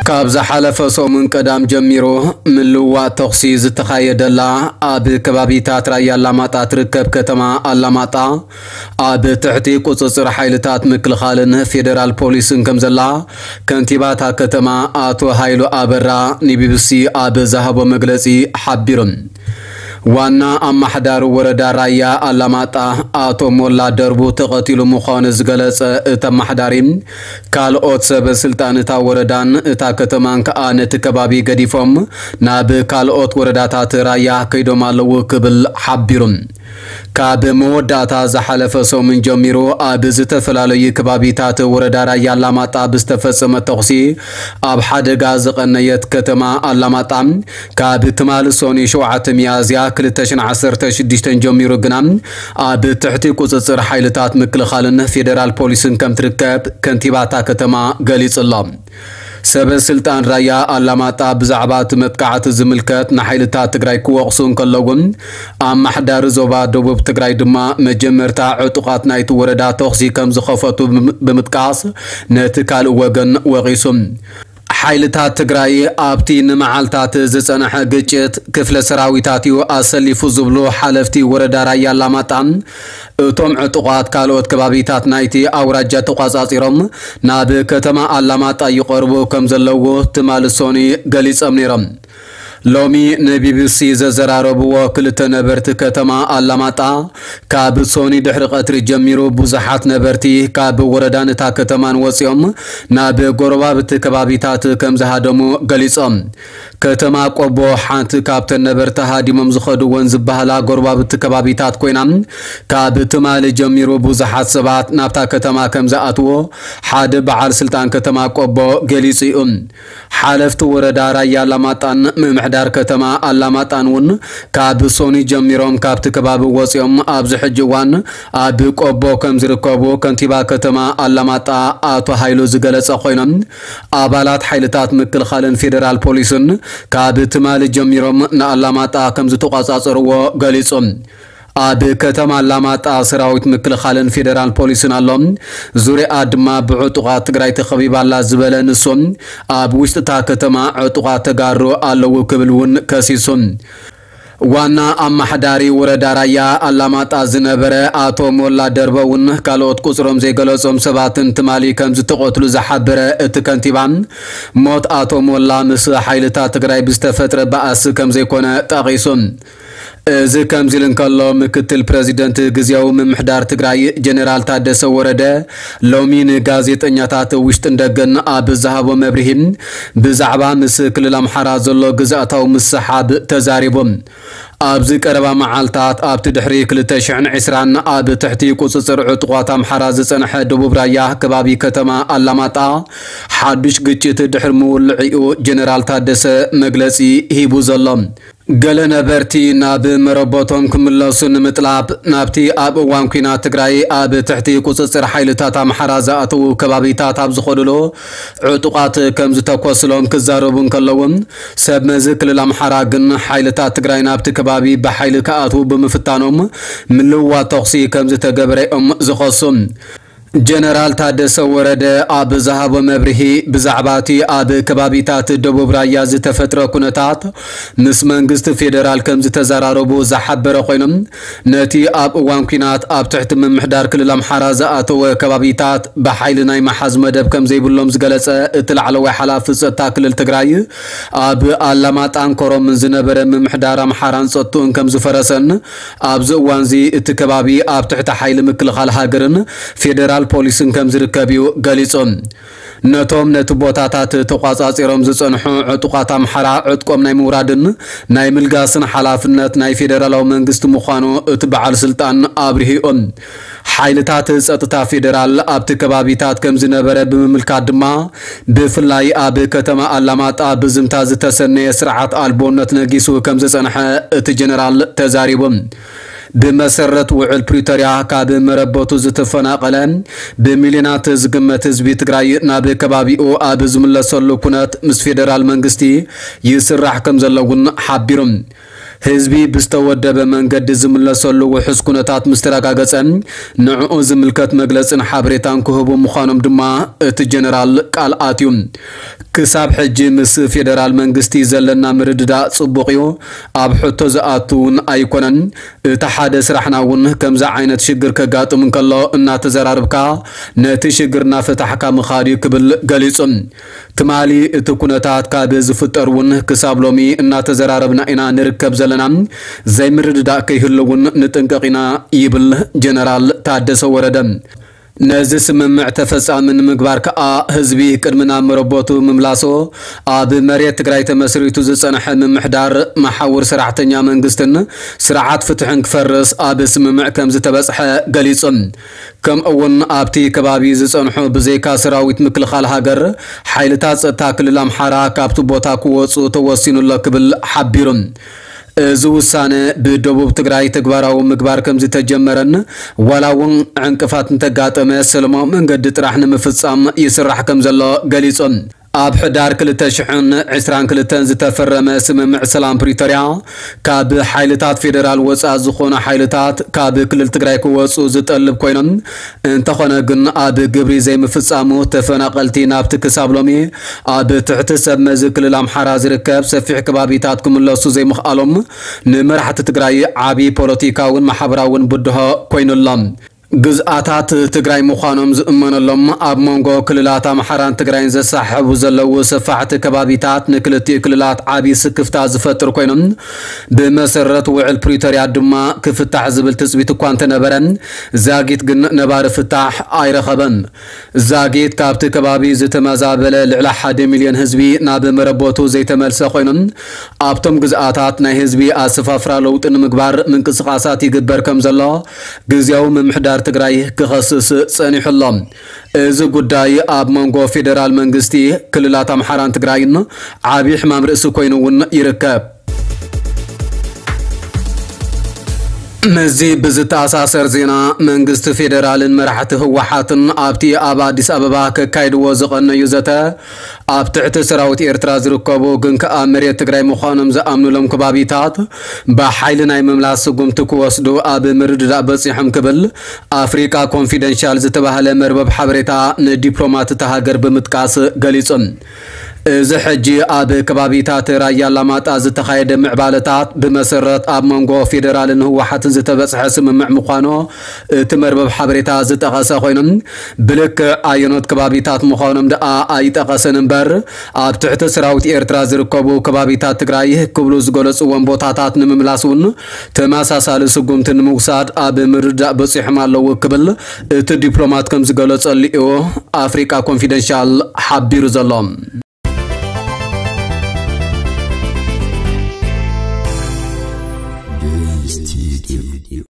ካብ ዝሓለፈ ሰሙን ቀዳም ጀሚሩ ምልውዋጥ ተኹሲ ዝተኻየደላ ኣብ ከባቢታት ራያ ኣላማጣ ትርከብ ከተማ ኣላማጣ ኣብ ትሕቲ ቁጽጽር ሓይልታት ምክልኻልን ፌደራል ፖሊስን ከም ዘላ ከንቲባታ ከተማ ኣቶ ሃይሉ ኣበራ ንቢቢሲ ኣብ ዝሃቦ መግለጺ ሓቢሩ። ዋና ኣማሕዳሪ ወረዳ ራያ ኣላማጣ ኣቶ ሞላ ደርቡ ተቐቲሉ ምዃኑ ዝገለጸ እቲ ኣማሕዳሪ፣ ካልኦት ሰበ ስልጣን እታ ወረዳን እታ ከተማን ከኣ ነቲ ከባቢ ገዲፎም ናብ ካልኦት ወረዳታት ራያ ከይዶም ኣለዉ ክብል ሓቢሩ። ካብ መወዳእታ ዝሓለፈ ሰሙን ጀሚሩ ኣብ ዝተፈላለዩ ከባቢታት ወረዳ ራያ ኣላማጣ ብዝተፈጸመ ተኹሲ ኣብ ሓደጋ ዝቐነየት ከተማ ኣላማጣ ካብ ትማሊ ሰኑይ ሸውዓተ ሚያዝያ ክልተ ሽሕን ዓሰርተ ሽዱሽተን ጀሚሩ ግና ኣብ ትሕቲ ቁጽጽር ሓይልታት ምክልኻልን ፌደራል ፖሊስን ከም ትርከብ ከንቲባታ ከተማ ገሊጹ ኣሎ። ሰበ ስልጣን ራያ ኣላማጣ ብዛዕባ እቲ መጥቃዕቲ ዝምልከት ንሓይልታት ትግራይ ክወቕሱ እንከለውን፣ ኣማሕዳሪ ዞባ ደቡብ ትግራይ ድማ መጀመርታ ዕጡቓት ናይቲ ወረዳ ተኹሲ ከም ዝኸፈቱ ብምጥቃስ ነቲ ካልእ ወገን ወቒሱ። ሓይልታት ትግራይ ኣብቲ ንመዓልታት ዝጸንሐ ግጭት ክፍለ ሰራዊታት'ዩ ኣሰሊፉ ዝብሉ ሓለፍቲ ወረዳ ራያ ኣላማጣ፣ እቶም ዕጡቓት ካልኦት ከባቢታት ናይቲ ኣውራጃ ተቋጻጺሮም ናብ ከተማ ኣላማጣ ይቐርቡ ከም ዘለዉ ትማሊ ሰኑይ ገሊጾም ነይሮም። ሎሚ ንቢቢሲ ዘዘራረብዎ ክልተ ነበርቲ ከተማ ኣላማጣ፣ ካብ ሰኑይ ድሕሪ ቀትሪ ጀሚሩ ብዙሓት ነበርቲ ካብ ወረዳን እታ ከተማን ወጺኦም ናብ ጎረባብቲ ከባቢታት ከም ዝሃደሙ ገሊጾም። ከተማ ቆቦ ሓንቲ ካብተን ነበርቲ ሃዲሞም ዝኸድወን ዝበሃላ ጎረባብቲ ከባቢታት ኮይና፣ ካብ ትማሊ ጀሚሩ ብዙሓት ሰባት ናብታ ከተማ ከም ዝኣትዎ ሓደ በዓል ስልጣን ከተማ ቆቦ ገሊጹ እዩ። ሓለፍቲ ወረዳ ራያ ኣላማጣን ምምሕዳር ከተማ ኣላማጣን እውን ካብ ሰኑይ ጀሚሮም ካብቲ ከባቢ ወፂኦም ኣብዚ ሕጂ እዋን ኣብ ቆቦ ከም ዝርከቡ ከንቲባ ከተማ ኣላማጣ ኣቶ ሃይሉ ዝገለጸ ኮይኖም፣ ኣባላት ሓይልታት ምክልኻልን ፌደራል ፖሊስን ካብ ትማሊ ጀሚሮም ንኣላማጣ ከም ዝተቆጻጸርዎ ገሊጹ። ኣብ ከተማ ኣላማጣ ሰራዊት ምክልኻልን ፌደራል ፖሊስን ኣሎ። ዙርያኣ ድማ ብዕጡቓት ትግራይ ተኸቢባ ኣላ ዝበለ ንሱ፣ ኣብ ውሽጢ እታ ከተማ ዕጡቓት ተጋሩ ኣለዉ ክብል እውን ከሲሱ። ዋና ኣማሓዳሪ ወረዳ ራያ ኣላማጣ ዝነበረ ኣቶ ሞላ ደርበ እውን ካልኦት ቁፅሮም ዘይገለጾም ሰባትን ትማሊ ከም ዝተቐትሉ ዝሓበረ እቲ ከንቲባ፣ ሞት ኣቶ ሞላ ምስ ሓይልታት ትግራይ ብዝተፈጥረ ባእሲ ከም ዘይኮነ ጠቒሱ። እዚ ከምዚ ኢሉ እንከሎ፣ ምክትል ፕረዚደንት ግዝያዊ ምምሕዳር ትግራይ ጀነራል ታደሰ ወረደ ሎሚ ንጋዜጠኛታት ውሽጥን ደገን ኣብ ዝሃቦ መብርሂ፣ ብዛዕባ ምስ ክልል ኣምሓራ ዘሎ ግዝኣታዊ ምስሓብ ተዛሪቡ። ኣብዚ ቀረባ መዓልታት ኣብቲ ድሕሪ ክልተ ሽሕን ዕስራን ኣብ ትሕቲ ቁጽጽር ዕጡቓት ኣምሓራ ዝጸንሐ ደቡብ ራያ ከባቢ ከተማ ኣላማጣ ሓዱሽ ግጭት ድሕሪ ምውልዒኡ ጀነራል ታደሰ መግለጺ ሂቡ ዘሎ። ገለ ነበርቲ ናብ መረበቶም ክምለሱ ንምጥላብ ናብቲ ኣብ እዋን ኲናት ትግራይ ኣብ ትሕቲ ቁጽጽር ሓይልታት ኣምሓራ ዝኣተዉ ከባቢታት ኣብ ዝኸድሉ ዕጡቓት ከም ዝተኮስሎም ክዛረቡ እንከለዉ፣ ሰብ መዚ ክልል ኣምሓራ ግን ሓይልታት ትግራይ ናብቲ ከባቢ ብሓይሊ ክኣትዉ ብምፍታኖም ምልውዋጥ ተኹሲ ከም ዝተገበረ እዮም ዝኸሱ። ጀነራል ታደሰ ወረደ ኣብ ዝሃቦ መብርሂ፣ ብዛዕባ እቲ ኣብ ከባቢታት ደቡብ ራያ ዝተፈጥረ ኩነታት ምስ መንግስቲ ፌደራል ከም ዝተዘራረቡ ዝሓበረ ኮይኖም፣ ነቲ ኣብ እዋን ኲናት ኣብ ትሕቲ ምምሕዳር ክልል ኣምሓራ ዝኣተወ ከባቢታት ብሓይሊ ናይ ምሓዝ መደብ ከም ዘይብሎም ዝገለጸ እቲ ላዕለዋይ ሓላፊ ጸጥታ ክልል ትግራይ፣ ኣብ ኣላማጣን ኮረምን ዝነበረ ምምሕዳር ኣምሓራን ጸጥትኡን ከም ዝፈረሰን፣ ኣብዚ እዋንዚ እቲ ከባቢ ኣብ ትሕቲ ሓይሊ ምክልኻል ሃገርን ፌደራል ፖሊስን ከም ዝርከብ እዩ ገሊጹ። ነቶም ነቲ ቦታታት ተቋጻጺሮም ዝጸንሑ ዕጡቓት ኣምሓራ ዕጥቆም ናይ ምውራድን ናይ ምልጋስን ሓላፍነት ናይ ፌደራላዊ መንግስቲ ምዃኑ እቲ በዓል ስልጣን ኣብሪሁ። ሓይልታት ጸጥታ ፌደራል ኣብቲ ከባቢታት ከም ዝነበረ ብምምልካት ድማ፣ ብፍላይ ኣብ ከተማ ኣላማጣ ብዝምታ ዝተሰነየ ስርዓት ኣልቦነት ነጊሱ ከም ዝጸንሐ እቲ ጀነራል ተዛሪቡ። ብመሰረት ውዕል ፕሪቶርያ ካብ መረበቱ ዝተፈናቐለ ብሚልዮናት ዝግመት ህዝቢ ትግራይ ናብ ከባቢኡ ኣብ ዝምለሰሉ ኩነት ምስ ፌደራል መንግስቲ ይስራሕ ከም ዘሎ እውን ሓቢሩ። ህዝቢ ብዝተወደበ መንገዲ ዝምለሰሉ ውሑስ ኩነታት ምስ ተረጋገጸ፣ ንዕኡ ዝምልከት መግለጽን ሓበሬታን ክህቡ ምዃኖም ድማ እቲ ጀነራል ቃል ኣትዩ። ክሳብ ሕጂ ምስ ፌደራል መንግስቲ ዘለና ምርድዳእ ጽቡቕ እዩ። ኣብ ሕቶ ዝኣቱ እውን ኣይኮነን። እቲ ሓደ ስራሕና እውን ከምዚ ዓይነት ሽግር ከጋጥም እንከሎ እናተዘራረብካ ነቲ ሽግር እናፈታሕካ ምኻድ እዩ ክብል ገሊጹ። ትማሊ እቲ ኩነታት ካብ ዝፍጠር እውን ክሳብ ሎሚ እናተዘራረብና ኢና ንርከብ ዘለና። ዘይምርድዳእ ከይህሉ እውን ንጥንቀቕ ኢና ይብል ጀነራል ታደሰ ወረደ። ነዚ ስምምዕ ተፈጻሚ ንምግባር ከኣ ህዝቢ ቅድሚ ናብ መረቦቱ ምምላሶ ኣብ መሬት ትግራይ ተመስሪቱ ዝጸንሐ ምምሕዳር መሓውር ሰራሕተኛ መንግስትን ስርዓት ፍትሕን ክፈርስ ኣብ ስምምዕ ከም ዝተበጽሐ ገሊጹ። ከምኡ እውን ኣብቲ ከባቢ ዝጸንሑ ብዘይካ ሰራዊት ምክልኻል ሃገር ሓይልታት ጸጥታ ክልል ኣምሓራ ካብቲ ቦታ ክወጹ ተወሲኑ ኣሎ ክብል ሓቢሩ። እዚ ውሳነ ብደቡብ ትግራይ ተግባራዊ ምግባር ከም ዝተጀመረን ዋላ እውን ዕንቅፋት እንተጋጠመ ሰላማዊ መንገዲ ጥራሕ ንምፍጻም ይስራሕ ከም ዘሎ ገሊጹ። ኣብ ሕዳር ክልተ ሽሕን ዕስራን ክልተን ዝተፈረመ ስምምዕ ሰላም ፕሪቶርያ ካብ ሓይልታት ፌደራል ወፃእ ዝኾኑ ሓይልታት ካብ ክልል ትግራይ ክወፁ ዝጠልብ ኮይኖም፣ እንተኾነ ግን ኣብ ግብሪ ዘይምፍጻሙ ተፈናቐልቲ ናብቲ ክሳብ ሎሚ ኣብ ትሕቲ ሰብ መዚ ክልል ኣምሓራ ዝርከብ ሰፊሕ ከባቢታት ክምለሱ ዘይምኽኣሎም ንመራሕቲ ትግራይ ዓቢ ፖለቲካውን ማሕበራውን ብድሆ ኮይኑሎም። ግዝኣታት ትግራይ ምዃኖም ዝእመነሎም ኣብ መንጎ ክልላት ኣምሓራን ትግራይን ዘሳሕቡ ዘለዉ ሰፋሕቲ ከባቢታት ንክልቲኡ ክልላት ዓቢ ስክፍታ ዝፈጥር ኮይኖም፣ ብመሰረት ውዕል ፕሪቶርያ ድማ ክፍታሕ ዝብል ትጽቢት እኳ እንተነበረ፣ ዛጊት ግን ነባሪ ፍታሕ ኣይረኸበን። ዛጊት ካብቲ ከባቢ ዝተመዛበለ ልዕሊ ሓደ ሚልዮን ህዝቢ ናብ መረቦቱ ዘይተመልሰ ኮይኖም፣ ኣብቶም ግዝኣታት ናይ ህዝቢ ኣሰፋፍራ ለውጢ ንምግባር ምንቅስቓሳት ይግበር ከም ዘሎ ግዝያዊ ምምሕዳር ትግራይ ክኸስስ ጸኒሑ ኣሎ። እዚ ጉዳይ ኣብ መንጎ ፌደራል መንግስቲ፣ ክልላት ኣምሓራን ትግራይን ዓቢ ሕማም ርእሲ ኮይኑ እውን ይርከብ። ምስዚ ብዝተኣሳሰር ዜና፣ መንግስቲ ፌደራልን መራሕቲ ህወሓትን ኣብቲ ኣብ ኣዲስ ኣበባ ከካይድዎ ዝቐነዩ ዘተ፣ ኣብ ትሕቲ ሰራዊት ኤርትራ ዝርከቡ ግን ከኣ መሬት ትግራይ ምዃኖም ዝኣምኑሎም ከባቢታት ብሓይሊ ናይ ምምላስ ስጉምቲ ክወስዱ ኣብ ምርድዳእ በጺሖም ክብል ኣፍሪቃ ኮንፊደንሻል ዝተባህለ መርበብ ሓበሬታ ንዲፕሎማት እታ ሃገር ብምጥቃስ ገሊጹ። እዚ ሕጂ ኣብ ከባቢታት ራያ ኣላማጣ ዝተኻየደ ምዕባለታት ብመሰረት ኣብ መንጎ ፌደራልን ህወሓትን ዝተበጽሐ ስምምዕ ምዃኑ እቲ መርበብ ሓበሬታ ዝጠቐሰ ኮይኑ፣ ብልክዕ ኣየኖት ከባቢታት ምዃኖም ደኣ ኣይጠቐሰን እምበር፣ ኣብ ትሕቲ ሰራዊት ኤርትራ ዝርከቡ ከባቢታት ትግራይ ክብሉ ዝገለጽዎም ቦታታት ንምምላስ እውን ተመሳሳሊ ስጉምቲ ንምውሳድ ኣብ ምርድዳእ በጺሖም ኣለዉ ክብል እቲ ዲፕሎማት ከም ዝገለጸሉ እዩ ኣፍሪቃ ኮንፊደንሻል ሓቢሩ ዘሎ።